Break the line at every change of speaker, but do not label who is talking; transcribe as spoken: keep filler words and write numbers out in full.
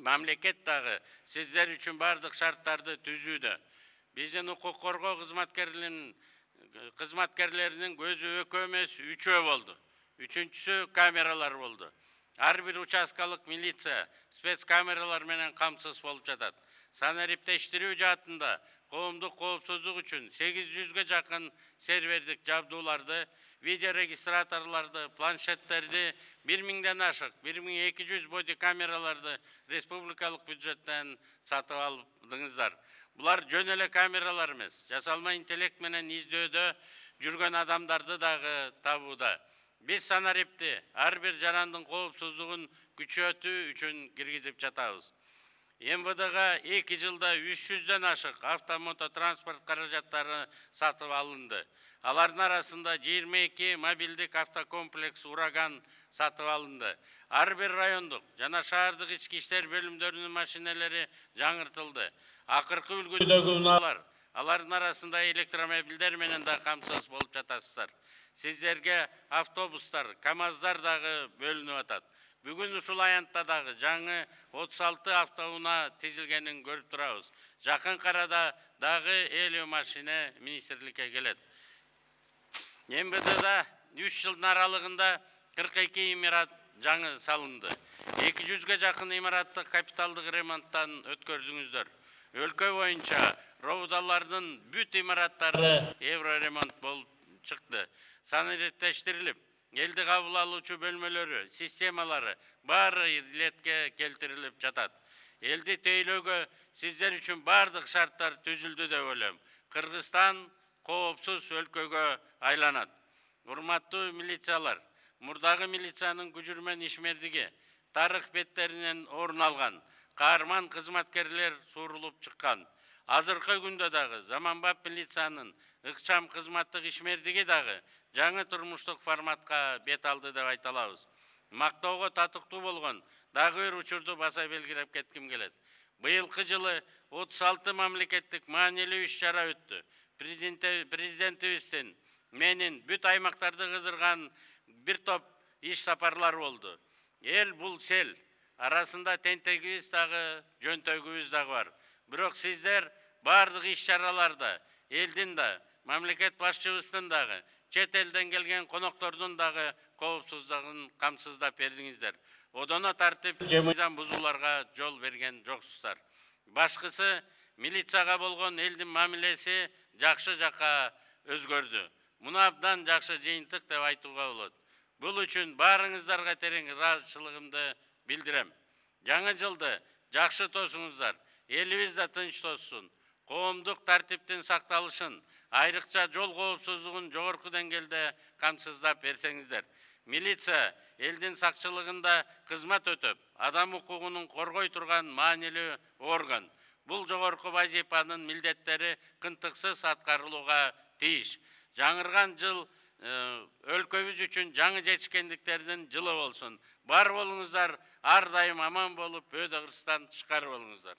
Мамлекет дагы сиздер үчүн бардык шарттарды түзүүдө. Биздин укук коргоо кызматкерлеринин кызматкерлеринин көзү экөө эмес, үчөө болду. Үчүнчүсү камералар болду. Ар бир участкалык милиция спец камералар менен камсыз болуп жатат. Санариптештирүү жаатында коомдук коопсуздук үчүн сегиз жүзгө жакын сервердик жабдууларды, видеорегистраторларды, планшеттерди, бир миңден ашык, бир миң эки жүз боди камераларды республикалык бюджеттен сатып алдыңыздар. Булар жөн эле камералар эмес, жасалма интеллект менен издөөдө жүргөн адамдарды дагы табууда. Биз санарипти ар бир жарандын коопсуздугун күчөтүү үчүн киргизип жатабыз. эм вэ дга эки жылда үч жүздөн ашык автомототранспорт каражаттары сатып алынды. Алардын арасында жыйырма эки мобилдик автокомплекс ураган сатып алынды. Ар бир райондук жана шаардык ички иштер бөлүмдөрүнүн машинелери жаңыртылды. Акыркы үлгүдөгү унаалар, алардын арасында электромобилдер менен да камсыз болуп жатасыздар. Сиздерге автобустар, камаздар дагы бөлүнүп атат. Бүгүн ушул аянтта дагы жаңы отуз алты автоунаа тизилгенин көрүп турабыз. Жакын арада дагы элүү машина министрликке келет. эм вэ дда үч жылдын аралыгында кырк эки имарат жаңы салынды. эки жүзгө жакын имаратты капиталдык ремонттан өткөрдүңүздөр. Өлкө боюнча роудалардын бүт имараттары евро ремонт болуп чыкты. Санариптештирилип, элди кабыл алуучу бөлмөлөрү, системалары баары иретке келтирилип жатат. Элди тейлөөгө сиздер үчүн бардык шарттар түзүлдү деп ойлойм. Кыргызстан коопсуз өлкөгө айланат. Урматтуу милициялар, мурдагы милициянын күжүрмөн ишмердиги, тарых беттеринен орун алган, каарман кызматкерлер суурулуп чыккан. Азыркы күндө дагы заманбап милициянын ыкчам кызматтык ишмердиги дагы жаңы турмуштук форматка бет алды деп айта алабыз. Мактоого татыктуу болгон дагы бир учурду баса белгилеп кетким келет. Быйылкы жылы отуз алты мамлекеттик маанилүү иш-чара өттү. Президентибиздин менин бүт аймактарды кыдырган бир топ иш сапарлар болду. Эл бул сел. Арасында тентегибиз дагы, жөнтөгүбүз дагы бар. Бирок сиздер бардык иш-чараларда элдин да, мамлекет башчыбыздын дагы, чет элден келген коноктордун дагы коопсуздугун камсыздап бердиңиздер. Одоно тартип, мыйзам бузууларга жол берген жоксуздар. Башкысы милицияга болгон элдин мамилеси жакшы жакка өзгөрдү. Муну абдан жакшы жыйынтык деп айтууга болот. Бул үчүн баарыңыздарга терең ыраазычылыгымды билдирем. Жаңы жылды жакшы тосуңуздар, элибиз да тынч тосsun, коомдук тартиптин сакталышын, айрыкча жол коопсуздугун жогорку деңгээлде камсыздап берсеңиздер. Милиция элдин сакчылыгында кызмат өтөп, адам укугунун коргой турган маанилүү орган. Бул жогорку вазифанын милдеттери кынтыксыз аткарылууга тийиш. Жаңырган жыл өлкөбүз үчүн жаңы жетишкендиктердин жылы болсун. Бар болуңуздар, ар дайым аман болуп, өйдө кырсыздан тышкары болуңуздар.